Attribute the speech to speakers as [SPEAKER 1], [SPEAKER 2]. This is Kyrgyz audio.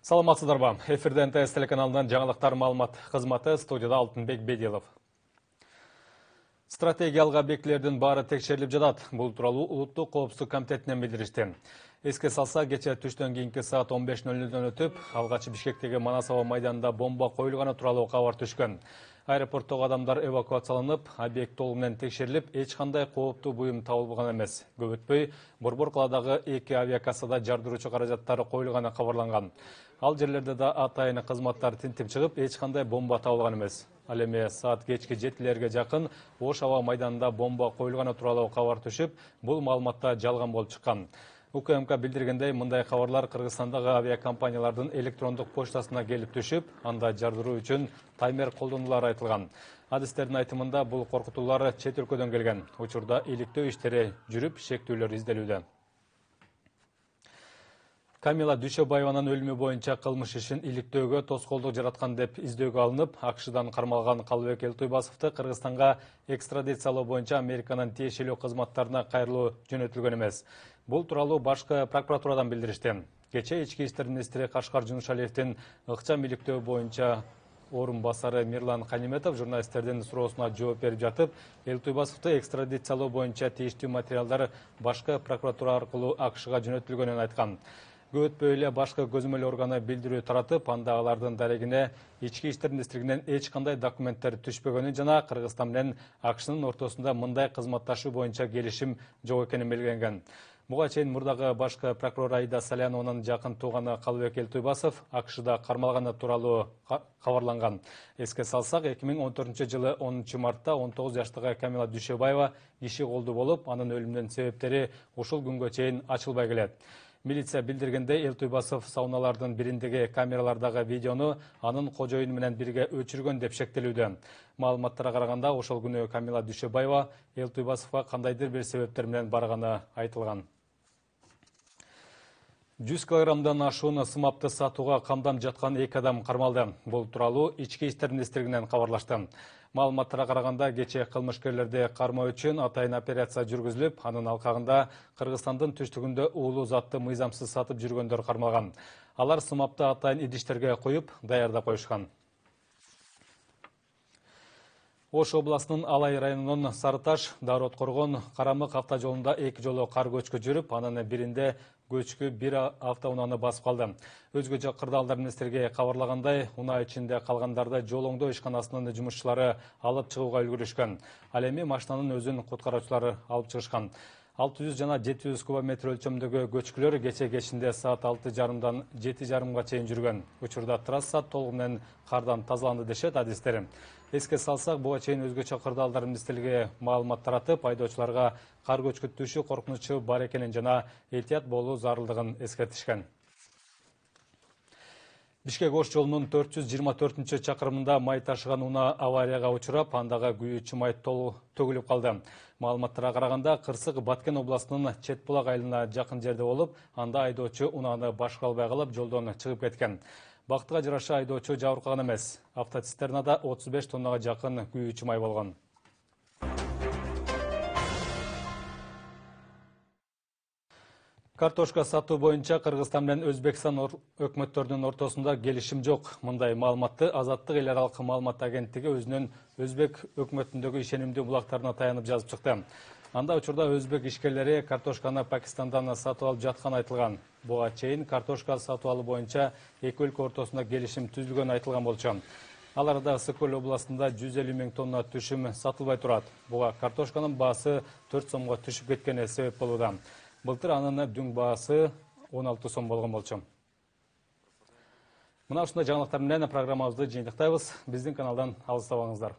[SPEAKER 1] Саламатсыздарбы? Эфирде НТС телеканалынан жаңалыктар маалымат кызматы, студияда Алтынбек Бедилов. Стратегиялык объектилердин баары текшерилип жатат. Бул тууралуу Улуттук коопсуздук комитетинен билдиришти. Эске салса, кечээ түштөн кийинки саат 15:00 өтүп, алгач Бишкектеги Манасова майданында бомба коюлганы тууралуу кабар түшкөн. Аэропорттогу адамдар эвакуацияланып, объект толугу менен текшерилип, эч кандай кооптуу буюм табылган эмес. Көп өтпөй, Борбор каладагы 2 авиакассада жардыруучу каражаттары коюлганы кабарланган. Ал жерлерде да атайын кызматтар тинтип чыгып, эч кандай бомба табылган эмес. Ал эми саат кечки 7:00 жакын Ош аба майданында бомба коюлганы тууралуу кабар түшүп, бул маалыматта жалган болуп чыккан. УКМК билдиргендей, мындай кабарлар Кыргызстандагы авиакомпаниялардын электрондук почтасына келип түшүп, анда жардыруу үчүн таймер колдонулары айтылган. Адистердин айтымында бул коркутуулар чет өлкөдөн келген. Учурда иликтөө иштери жүрүп, шектүүлөр изделүүдө. Камила Дүйшөбаеванын өлүмү боюнча кылмыш ишин иликтөөгө тоскоолдук жараткан деп издөөгө алынып, АКШдан кармалган Калыбек Элтуйбасовду Кыргызстанга экстрадициялоо боюнча Американын тиешелүү кызматтарына кайрылуу жөнөтүлгөн эмес. Бул тууралуу башкы прокуратурадан билдиришти. Кечээ Ички иштер министри Кашкар Жунушалиевдин ыкчам иликтөө боюнча орун басары Мирлан Каниметов журналисттердин суроосуна жооп берип жатып, Элтуйбасовду экстрадициялоо боюнча тийиштүү материалдар башкы прокуратура аркылуу АКШга жөнөтүлгөнүн айткан. Көп өтпөй эле башкы көзөмөл органы билдирүү таратып, анда алардын дарегине Ички иштер министрлигинен эч кандай документтер түшпөгөнүн жана Кыргызстан менен АКШнын ортосунда мындай кызматташуу боюнча келишим жок экенин белгиленген. Буга чейин мурдагы башкы прокурор Аида Салянованын жакын тууганы Калыбек Элтуйбасов АКШда кармалганы тууралуу кабарланган. Эске салсак, 2014-жылы 10 мартта 19 жаштагы Камила Дүйшөбаева киши колдуу болуп, анын өлүмүнүн себептери ушул күнгө чейин ачылбай келет. Милиция билдиргендей, Элтуйбасов сауналардын бириндеги камералардагы видеону анын кожоюну менен бирге өчүргөн деп шектелүүдө. Маалыматтарга караганда, ошол күнү Камила Дүйшөбаева Элтуйбасовго кандайдыр бир себептер менен барганы айтылган. 100 килограммдан ашуун сымапты сатууга камдам жаткан 2 адам кармалды. Бул тууралуу Ички иштер министрлигинен кабарлашты. Маалыматтарга караганда, кечээ кылмышкерлерди кармоо үчүн атайын операция жүргүзүлүп, анын алкагында Кыргызстандын түштүгүндө уулуу затты мыйзамсыз сатып жүргөндөр кармалган. Алар сымапты атайын идиштерге коюп, даярдап коюшкан. Ош областынын Алай районунун Сарыташ, Дарот-Коргон, Карамык автожолунда 2 жолу кар көчкү жүрүп, анын биринде көчкү бир автоунааны басып калды. Өзгө жак кырдаалдар министрге кабарлагандай, унаа ичинде калгандарды жол оңдоо ишканасынын жумушчулары алып чыгууга үлгүрүшкөн. Ал эми машинанын өзүн куткаруучулар алып чыгышкан. 600 жана 700 кубометр өлчөмдөгү көчкүлөр кечинде саат 6:30дан 7:30га чейин жүргөн. Учурда трасса толугу менен кардан тазаланды дешет адистер. Эске салсак, буга чейин өзгөчө кырдаалдар министрлиги маалымат таратып, айдоочуларга кар көчкүтүшү коркунучу бар экенин жана этият болуу зарылдыгын эскертишкен. Бишкек-Ош жолунун 424-чакырымында май ташыган унаа аварияга учурап, андагы күйүүчү май төгүлүп калды. Маалыматтарга караганда, Кырсык Баткен областынын Чет Булак айылына жакын жерде болуп, анда айдоочу унааны башкара албай калып, жолдон чыгып кеткен. Бактыга жараша айдоочу жабыркаган эмес. Автоцистернада 35 тоннага жакын күйүүчү май болгон. Картошка сатуу боюнча Кыргызстан менен Өзбекстан өкмөттөрүнүн ортосунда келишим жок. Мындай маалыматты Азаттык эл аралык маалымат агенттиги өзүнүн Өзбек өкмөтүндөгү ишенимдүү булактарына таянып жазып чыкты. Анда учурда өзбек ишкерлери картошканы Пакистандан сатып алып жатканы айтылган. Буга чейин картошка сатып алуу боюнча эки өлкө ортосунда келишим түзүлгөнү айтылган болчу. Ал арада Ысык-Көл областында 150 000 тонна түшүм сатылбай турат. Буга картошканын баасы 4 сомго түшүп кеткени себеп болууда. Былтыр анын дүң баасы 16 сом болгон болчу. Мына ушундай жаңылыктар менен программабызды жыйынтыктайбыз. Биздин каналдан алыстабаңыздар.